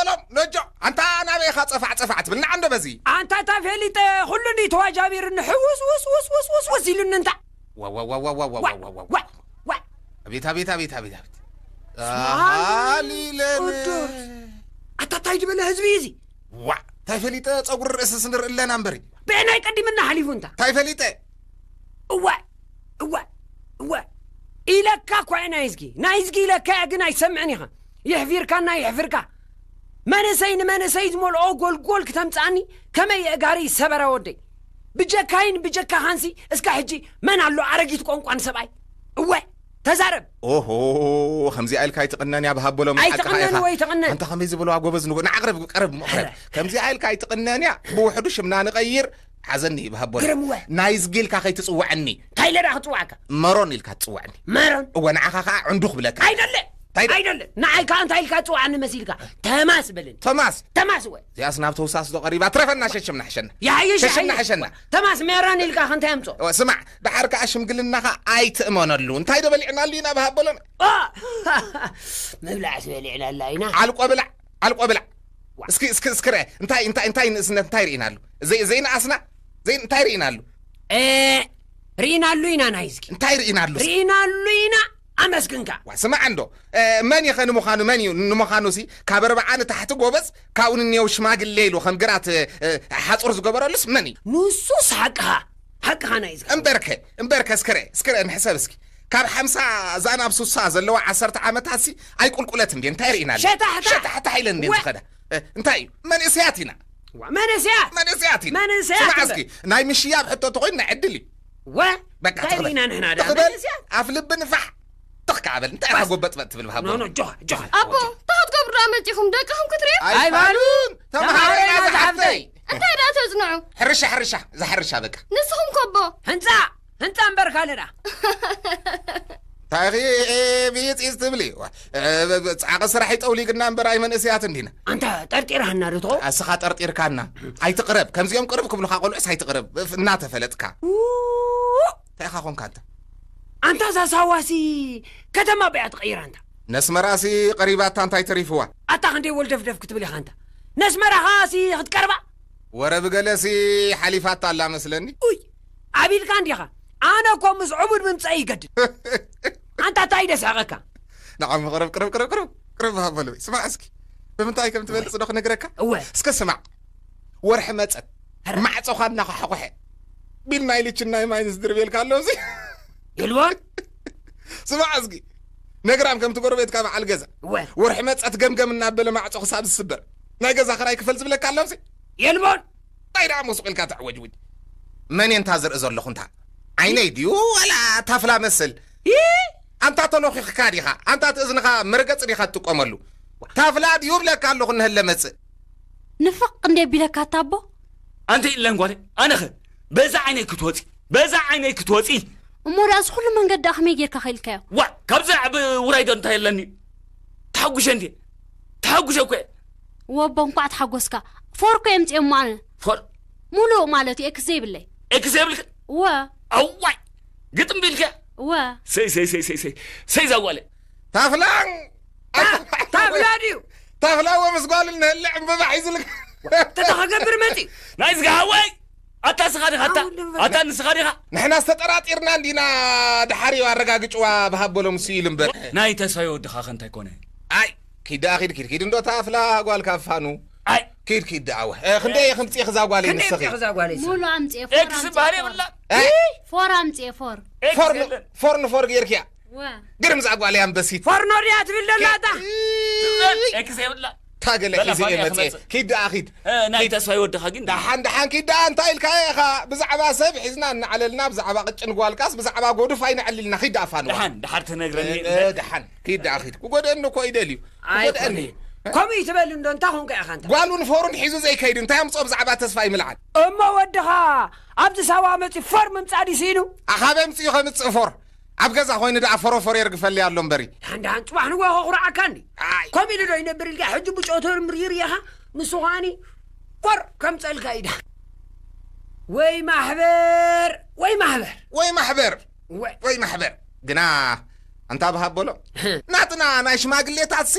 ቶም ነጆ ኣንታ ናበይ ኢኻ ጸፋዕ ጸፋዕ ትብል ንዓ እንዶ በዚ። ኣንታ እታ ፈሊጠ ኩሉ እንዲ ተዋጃቢርኒ ሕውስ ውስ ውስ ውስ ውስ ውስ ኢሉኒ እንታ። ዋ፣ ዋ፣ ዋ፣ ዋ፣ ዋ፣ ዋ፣ ዋ፣ ዋ፣ ዋ። ዋ፣ ዋ። ኣቤት፣ ኣቤት፣ ኣቤት፣ ኣቤት፣ ኣቤት። ስብሓን ኣሃሊለነ። ቅዱስ። ኣታ እንታይ ዝበለ ህዝቢ እዩ እዚ? ዋ፣ እንታይ ፈሊጠ ጸጉሪ ርእስስ ንርኢ ኣለና እምበሪ። ብዕናይ ቀዲምና ሓሊፉ እንታ። እንታይ ፈሊጠ? እወ፣ እወ፣ እወ። ኢለካ እኳ እየ ናይዝጊ። ናይዝጊ ኢለካ እየ ግን ኣይሰምዕን ኢኻ። ይሕፊርካና ይሕፍርካ። መንእሰይ ንመንእሰይ ዝመልኦ ጎልጎል ክተምጽኣኒ ከመይ የእጋሪ ሰበረ ወደይ። ብጀካይን ብጀካኻንሲ እስከ ሕጂ መን ኣሎ ኣረጊት ቆንቋን ሰብኣይ? እወ፣ ተዛረብ። ኦሆ፣ ከምዚኣ ኢልካ ኣይትቕነን እያ ብሃቦሎም ሓቅኻ ኣይትቕነን ኢኻ። ወይ ትቕነን? ኣንታ ከመይ ዝበልዋ ጎበዝ ንጎ-፣ ንዓ ቅረብ፣ ቀረብ እሞ ቅረብ። ኧረ። ከምዚኣ ኢልካ ኣይትቕነን እያ። ብውሕዱ ሽምና ንቐይር። ሓዘኒ ብሃቦሎም። ግርምወ። ናይዝጊ ኢልካ ከይትጽውዐኒ። እንታይ ኢለ ደኣ ክጽውዓካ? መሮን ኢልካ ትጽውዐኒ። መሮን? እወ፣ ንዓኻ ኸኣ ዕንዱ ክብለካ። ኣይደለ። እንታይ ደ- ኣይደለ። ንዓይ ከኣ እንታይ ኢልካ ትጽውዓኒ መሲልካ? ተማስ በለኒ። ተማስ? ተማስ እወ። እዚኣስ ናብ ተውሳስ ዶ ቀሪባ? ትረፈና ሸሽምና ሕሸና። ይሓይሽ፣ ሸሽምና ይሓይሽ። ሕሸና። ተማስ ሜሮን ኢልካ ከ እንታይ ኣምጾ? እወ፣ ስማዕ፣ ደሓር ከኣ ሽምግልናኻ ኣይትእመነሉ። እንታይ ዶ በሊዕናሉ ኢና ብሃቦሎም? ኦ! ምብላዕስ በሊዕናላ ኢና። ዓልቆ ብላዕ፣ ዓልቆ ብላዕ። ዋ። እስኪ፣ እስኪ፣ እስኪ ርአ። እንታይ፣ እንታይ፣ እንታይ ንእስነት፣ እንታይ ርኢናሉ? ዘይ-፣ ዘይነኣስና? ዘይ-፣ እንታይ ርኢናሉ? እ፣ ርኢናሉ ኢና ናይዝጊ። እንታይ ርኢናሉ? ርኢናሉ ኢና፣ ኣመስግንካ። ዋ፣ ስማዕ እንዶ። እ፣ መን እዩ ኸ ንምዃኑ፣ መን እዩ ንምዃኑሲ? ካብ ኣርብዓ ንታሕቲ ጎበዝ፣ ካብኡ ንኔው ሽማግሌ ኢሉ ከም ግራት፣ እ፣ እ፣ ሓጹር ዝገበረሉስ መን እዩ? ንሱስ ሓቅኻ፣ ሓቅኻ ናይዝጊ። እምበርከ፣ እምበርከ፣ እስኪ ርአ፣ እስኪ ርአ፣ ንሕሰብ እስኪ። ካብ ሓምሳ እዛ ናብ ሱሳ ዘለዋ ዓሰርተ ዓመታትሲ ኣይቁልቁለት እንዴ? እንታይ ርኢናሉ? ሸታሕታሕ። ሸታሕታሕ ኢለን እንዴ ወ- ዝኸዳ? እ፣ እንታይ እዩ? መንእሰያት ኢና። ዋ፣ መንእሰያት። መንእሰያት ኢና። መንእሰያት ስማዕ እምበር። እስኪ፣ ናይ ምሽያብ ሕቶ ተኾይኑ ናይ ዕድል እዩ። ወ-፣ በቃ፣ እንታይ ትኽበል። ርኢና ንሕና ደኣ? ትኽበል፣ መንእሰያት። ኣፍ ልቢ ንፋሕ። ትኽ ከኣ በል። እንታይ ኢኻ ጓስ። ጎበጥበጥ ትብል፣ ብሃቦ? ኖ፣ ኖ፣ ጆ፣ ጆ። ኣቦ፣ እንታይ ክትገብሩ ደኣ መጺኹም? ደቅኹም ክትርእዩ? ኣይፋሉን። ኣይፋሉን። ተምሃሮ ተምሃሮ ኢና ኢና ዝሓፍተይ። ዝሓፍተይ። እንታይ ደኣ ተጽንዑ? ሕርሻ፣ ሕርሻ። እዛ ሕርሻ በቃ። ንስኹም ከ ኣቦ? ህንጻ፣ ህንጻ እምበር ካልእ ደኣ። እንታይ ኢኺ፣ እ፣ ብይጽ ኢዝ ትብሊ? ዋ፣ እ፣ ብ-፣ ብ-፣ ጻዕቂ ስራሕ ይጠውሊግና እምበር ኣይ መንእሰያት እንዲና። ኣንታ ጠርጢርሃና ዶ ትኾ? ኣስኻ ጠርጢርካና። ኣይትቕረብ። ከምዚኦም ቅርብ ክብሉኻ ቆልዑስ ኣይትቕረብ። ፍ-፣ እናተፈለጥካ። ው-፣ እንታይ ኢኻ ኾንካ ኣንታ? ኣንታ እዛ ሳዋሲ ከተማ በያ ትቐይራ ኣንታ። ነስመራሲ ቀሪባታ እንታይ ተሪፍዋ? ኣታ ክንደይ ወልደፍደፍ ክትብል ኢኻ ኣንታ። ነስመራኻሲ ክትቀርባ? ወረ ብገለሲ ሓሊፋታ ኣላ መስለኒ። ኡይ፣ ኣቢልካ እንዲኻ። ኣነ እኮ ምስ ዕቡድ ምምጻእ ይገድድ። ኣንታ እንታይ ደስሕቐካ? ንዓም ቅርብ፣ ቅርብ፣ ቅርብ፣ ቅርብ፣ ቅርብ ሃበሉ። ስማዕ እስኪ። ብምንታይ ከም ትበልጽ ዶ ክነግረካ? እወ። እስከ ስማዕ። ወርሒ መጸት። ኧረ። ማዕጾኻ እናኸሓቑሐ። ቢል ናይ ልችን ናይ ማይንስ ድርቤልካ ኣሎ እዚ። የልቦን? ስማዕ እስኪ። ነግራም ከምቲ ጎረቤትካ በዓል ገዛ። እወ። ወርሒ መጸት ገምገም እናበለ ማዕጾ ክሳብ ዝስበር። ናይ ገዛ ክራይ ክፈል ዝብለካ ኣሎ እዚ። የልቦን? እንታይ ደኣ ሞስቕ ኢልካ ተዕወጅውጅ? መን እየ እንታ ዝርኢ ዘለኹ እንታ? ዓይነይ ድዩ ዋላ ታፍላ መስል? ይ! ኣንታ ተኖኺኽካ ዲኻ? ኣንታ እቲ እዝንኻ መርገጺ ዲኻ ትጥቀመሉ? ታፍላ ድዩ እብለካ ኣለኹ እንሀለ መጽእ። ንፍቕ እንደ ቢለካ ኣታ ኣቦ? ኣንቲ ኢለን ጓለይ፣ ኣነኸ በዛ ዓይነይ ክትወጺ፣ በዛ ዓይነይ ክትወጺ። እሞ ደኣ እዚ ኩሉ መንገዲ ደኣ ከመይ ጌርካ ከይልካዮ? ዋ፣ ካብዚ ዓቢ ውራይ ዶ እንታይ ኣለኒ? ተሓጉሸ እንዴ? ተሓጉሸ እኮ እየ። ወቦ፣ እንኳዕ ተሓጎስካ። ፎር እኮ የምጽኤ እሞ ኣነ። ፎር? ሙሉእ ማለት እዩ፣ ኤክስ ዘይብለይ። ኤክስ ዘይብልክ? እወ። ኣዋይ! ግጥም ቢልካ? እወ። ሰይ፣ ሰይ፣ ሰይ፣ ሰይ፣ ሰይ፣ ሰይ፣ ዛጓለ። ታፍላን! ታ-፣ ታፍላ ድዩ? ታፍላ ወ ምስ ጓል እንህለ ዕምበባ ሒዙልካ። ተታ ክገብር መጺ። ናይ ዝጋ ሃወይ! ኣታ ስኻ ዲኻ? ኣታ፣ ኣው፣ ልበል። ኣታ ንስኻ ዲኻ? ንሕና ዝተጠራጢርና እንዲና፣ ድሓር እዩ ኣረጋግጭዋ ብሃበሎም ስኢሉ እምበር። ናይ ተስፋይ ወድኻ ከ እንታይ ኮነ? ኣይ፣ ኪድ ደኣ ኪድ፣ ኪድ፣ ኪድ እንዶ ታፍላ ጓል ካፋኑ። ኣይ። ኪድ፣ ኪድ ደኣ ወ። እ፣ ክንደይ እየ ክምጽእ እዛ ጓለይ ክንደይ ንስኺ? እምጽእ እዛ ጓለይ ንስኺ? ሙሉ ኣምጽኤ፣ ፎር ኤክስ ኣምጽኤ፣ ዝበሃል ፎር። የብላን። እ? ፎር ኣምጽኤ፣ ፎር። ኤክስ ፎር ን-፣ የለን። ፎር ንፎር ጌርክያ። ወ። ግርም እዛ ጓለይ ኣንበሲት። ፎርኖ ድያ ትብል ደላ እታ? ኪድ። ኤክስ የብላ። ታገለ በላ ሒዘ እየ ፋንያ መጽኤ። ክመጽእ። ኪድ ደኣ ኪድ። እ፣ ናይ ኪድ። ተስፋይ ወድኻ ግን ደሓን፣ ደሓን ኪድ ደኣ እንታይ ኢልካ ኢኻ? ብዛዕባ ሰብ ሒዝና እናዕለልና፣ ብዛዕባ ቅጭን ጓልካስ፣ ብዛዕባ ጎዱፍ ኣይነዕልልና። ኪድ ደኣ ፋንዋ። ደሓን፣ ደሓር ትነግረኒ። እ፣ እ፣ ደሓን። ኪድ ደኣ ኪድ። ክጎድአኒ እኮ ይደልዩ። ክጎድአኒ። ኣይኮነን። ከምኡ ይትበል እንዶ፣ እንታይ ኾንካ ኢኻ እንታ? ጓሉን ፎሩን ሒዙ ዘይከይድ እንታይ ኣምጽኦ ብዛዕባ ተስፋይ ምልዓል? እሞ ወድኻ ኣብዚ ሳዋ መጺኡ ፎር ምምጻእ ድዩ ስኢኑ? ኣኻበይ ኣምጺኡ ከምጽእ ፎር? ኣብ ገዛ ኮይኑ ደኣ ፎሮፎር የርግፈለይ ኣሎ እምበሪ። ደሓን ደሓን ጽባሕ ንግሆ ከኹርዓካ እንዲ። ኣይ። ከምኡ ኢሉ ዶ ይነብር ኢልካ ሕጂ ብጨው ተርምሪር ኢኻ? ንሱ ኸኣኒ ፎር ከምጸልካ እዩ ደሓን። ወይ ማሕበር፣ ወይ ማሕበር። ወይ ማሕበር። ወይ። ወይ ማሕበር። ግና ኣንታ ብሃበሎ። ናትና ናይ ሽማግሌታትሲ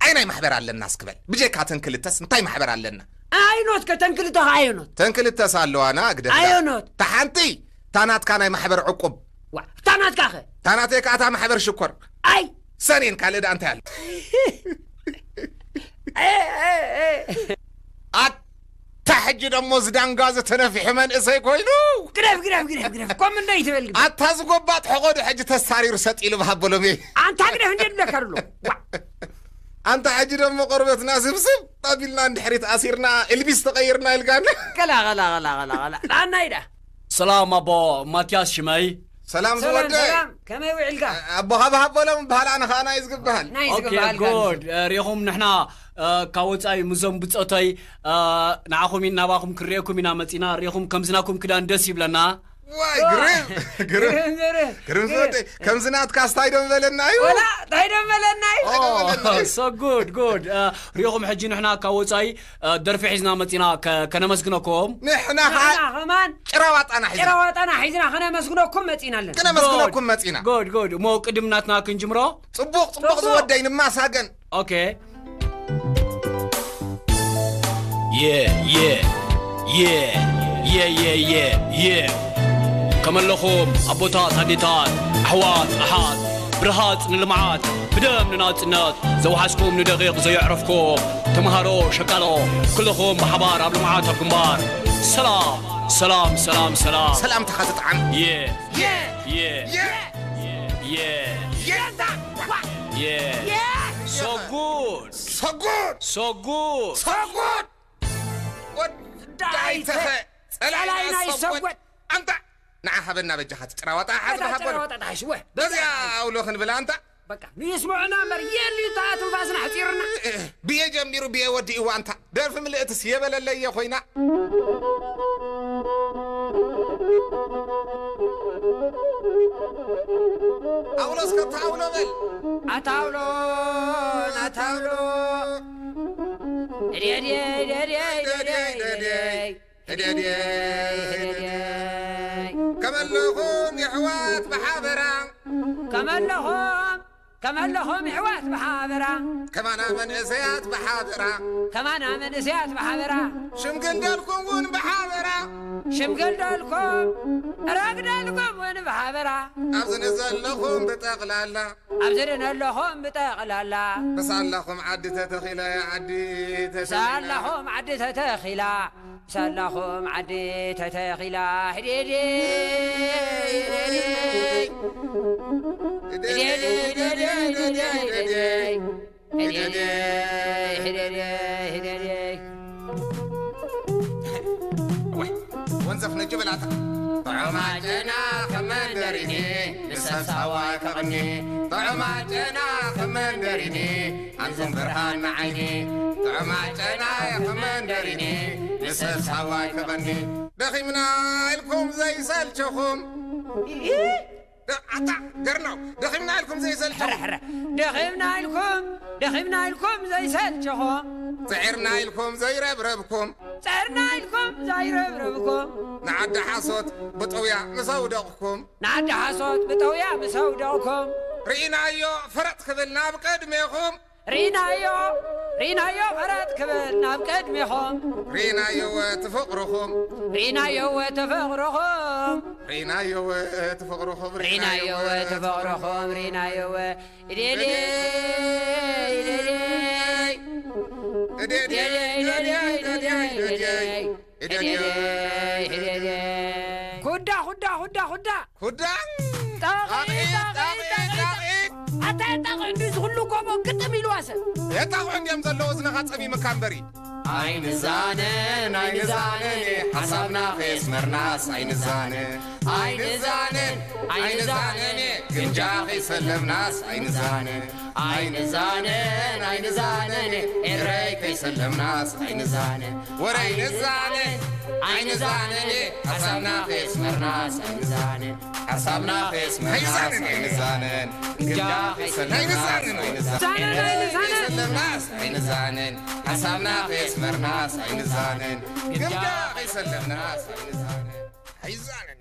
ኣይ ናይ ማሕበር ኣለና እስክበል። ብጀካ ተን ክልተስ እንታይ ማሕበር ኣለና? ኣየኖት ከ ተን ክልተ ከ ኣየኖት? ተን ክልተስ ኣለዋና ግደፍ። ኣየኖት? እታ ሓንቲ እታ ናትካ ናይ ማሕበር ዕቁብ። ዋ፣ እታ ናትካ ከ? እታ ናተይ ከኣ እታ ማሕበር ሽኮር። ኣይ! ሰኔን ካልእ ደኣ እንታይ ኣሎ? ኣታ ሕጂ ደሞ ዝዳንጋ ዝተነፊሑ መንእሰይ ኮይኑ። ግደፍ፣ ግደፍ፣ ግደፍ፣ ግደፍ። ኮም እንደ ይትበል ግደፍ። ኣታ ዝጎባጥ ሕቆዱ ሕጂ ተሳሪሩ ሰጥ ኢሉ ብሃበሎም እየ። ኣንታ ግደፍ እንደ ድለካ ኣሎ። ዋ። ኣንታ ሕጂ ደሞ ቆርበትና ስብስብ ኣቢልና እንድሕሪት ኣሲርና ኤልቢስ ተቐይርና ኢልካና። ቀላ፣ ቀላ፣ ቀላ፣ ቀላ፣ ቀላ። ዳና ኢዳ። ሰላም ኣቦ ማትያስ ሽመይ። ሰላም ሰላም ዝወደይ። ሰላም፣ ከመይ ውዒልካ? ኣቦ ሃብ ሃብ በሎም በሃል፣ ኣነ ኸኣ ናይ ዝግበሃል። ናይ ኦኬ ዝግበሃል ጋር። ጉድ። እ፣ ሪኹም ንሕና፣ እ፣ ካብ ወጻኢ ምዞም ብጾተይ፣ እ፣ ንዓኹም ኢን ናባኹም ክርእየኩም ኢና መጺና። ሪኹም ከምዝናኩም ክዳን ደስ ይብለና። ዋይ፣ ዋ። ግርም፣ ግርም። ግርም፣ ግርም። ግርም ግርም። ዝወደይ፣ ከምዚ ናትካ ስታይ ዶ ምበለና እዩ? ወላ፣ ታይ ዶ ምበለና እዩ? ኦ፣ ታይ ዶ ምበለና እዩ? So good, good. እ፣ ሪኹም ሕጂ ንሕና ካብ ወጻኢ፣ እ፣ ደርፊ ሒዝና መጺና ከ-፣ ከነመስግነኩም። ንሕና ኸኣ ንሕና ኸማን ጭራዋጣና ሒዝና። ጭራዋጣና ሒዝና ከነመስግነኩም መጺና ኣለና። ከነመስግነኩም መጺና። ጉድ፣ ጉድ። እሞ ቅድም ናትና ክንጅምሮ? ጽቡቕ፣ ጽቡቕ ጽቡቕ። ዝወደይ ንማሳገን። ኦኬ። የ፣ የ፣ የ፣ የ፣ የ፣ የ፣ የ። ከመለኹም ኣቦታት ኣዴታት፣ ኣሕዋት ኣሓት፣ ብርሃጽ ንልምዓት፣ ብደም ንናጽነት፣ ዘውሓስኩም ንደቂቕ ዘየዕረፍኩም፣ ተምሃሮ፣ ሸቃሎ፣ ኩልኹም ብሓባር ኣብ ልምዓት ኣብ ግንባር። ሰላም፣ ሰላም፣ ሰላም፣ ሰላም። ሰላምታኻ ዝጠዓም። የ፣ የ፣ የ፣ የ፣ የ። የ። የ። So good. So good. So good. So good. ወዳይ ወዳይ ተኸ፣ ተኸ፣ ጸላኢና ጸላኢና ይሰጎድ። ይሰጎድ። ኣንታ፣ ንዓ ሃበና በጃኻ፣ እቲ ጭራዋጣ ሓዝ እታ ሃበሉ። ጭራዋጣ ተሓሽ፣ ወ፣ በዚኣ በዚኣ። ኣውሎ ክንብላ ኣንታ። በቃ፣ ንስምዑና እምበር፣ የልዩ እታ ትንፋስና ኣሕጺሩና። ብየ ጀሚሩ፣ ብየ ወዲእዋ ኣንታ። ደርፊ ምልእትስ የበለለየ ኮይና። ኣውሎ እስከ ኣታ ኣውሎ በል። ኣታ ኣውሎ፣ ኣታ ኣውሎ። እድየ፣ እድየ፣ እድየ፣ እድየ፣ እድየ፣ እድየ። ህደድየይ፣ ህደድየይ። ከመለኹም የሕዋት ብሓበራ። ከመለኹም፣ ከመለኹም የሕዋት ብሓበራ። ከማና መንእሰያት ብሓበራ። ከማና መንእሰያት ብሓበራ። ሽምግል ደልኩም እውን ብሓበራ። ሽምግል ደልኩም፣ ረግደልኩም እውን ብሓበራ። ኣብዚ ንዘለኹም ብጠቕላላ። ኣብዚ ንዘለኹም ብጠቕላላ። ብሳላኹም ዓዲ ተተኺለ፣ ዓዲ ተተኺለ። ብሳላኹም ዓዲ ተተኺላ። ሳላኹም ዓዲ ተተኺላ። ህዴዴ፣ ህዴዴ። ህዴዴ፣ ህዴዴ፣ ህዴዴ፣ ህዴዴ። ህዴዴ፣ ህዴዴ፣ ህዴዴ። ወይ፣ ወንዘፍ ነጁ በላታ። ጥዑማት ጨና ከም መንደሪኒ፣ ንሰብ ሳዋ ይከቕኒ። ጥዑማት ጨና ከም መንደሪኒ፣ ኣንቱም ብርሃን ንዓይኒ። ጥዑማት ጨና ከም መንደሪኒ፣ ንሰብ ሳዋ ይከቕኒ። ደኺምና ኢልኩም ዘይሰልቸኹም። ደ-፣ ኣታ ገርናው፣ ደኺምና ኢልኩም ዘይሰልቸኹም። ሕረ፣ ሕረ። ደኺምና ኢልኩም፣ ደኺምና ኢልኩም ዘይሰልቸኹም። ጽዒርና ኢልኩም ዘይረብረብኩም። ጽዒርና ኢልኩም ዘይረብረብኩም። ንዓዲ ሓሶት ብጠውያ ምስ ኣውደቕኩም። ንዓዲ ሓሶት ብጠውያ ምስ ኣውደቕኩም። ርኢናዮ ፈረጥ ክብል ናብ ቅድሜኹም። ርኢናዮ፣ ርኢናዮ ፈረጥ ክብል ናብ ቅድሜኹም። ርኢናዮ እቲ ፍቕርኹም። ርኢናዮ እቲ ፍቕርኹም። ርኢናዮ እቲ ፍቕርኹም። ርኢናዮ እቲ ፍቕርኹም። ርኢናዮ። እዴዴ፣ እዴዴ፣ እዴዴ፣ እዴዴ፣ እዴዴ፣ እዴዴ። እዴዴ፣ እዴዴ። ኩዳ፣ ኩዳ፣ ኩዳ፣ ኩዳ። ኩዳ። ጣቒ፣ ጣቒ፣ ጣቒ፣ ጣቒ፣ ጣቒ፣ ጣቒ። ጣቒ። ኣታ የጣቕዑ እንዲ ዝኹሉ ጎቦ ግጥም ኢልዋ ሰብ። የጣቕዑ እንዲዮም ዘለዉ እዝንኻ ጸሚምካ እምበሪ። ኣይንዛነን፣ ኣይንዛነን፣ ሓሳብና ከየስመርናስ ኣይንዛነን። ኣይንዛነን፣ ኣይንዛነን፣ ግምጃ ከይሰለምናስ ኣይንዛነን። ኣይንዛነን፣ ኣይንዛነን፣ ኤረይ ከይሰለምናስ ኣይንዛነን። ወረ ኣይንዛነን፣ ኣይንዛነን፣ ሓሳብና ከየስመርናስ ኣይንዛነን። ሓሳብና ከየስመርናስ ኣይንዛነን። ግምጃ ከይሰለምናስ ኣይንዛነን። ኣይንዛነን፣ ኣይንዛነን። ከይሰለምናስ ኣይንዛነን። ሓሳብና ከየስመርናስ ኣይንዛነን። ግምጃ ከይሰለምናስ ኣይንዛነን። ኣይዛነን።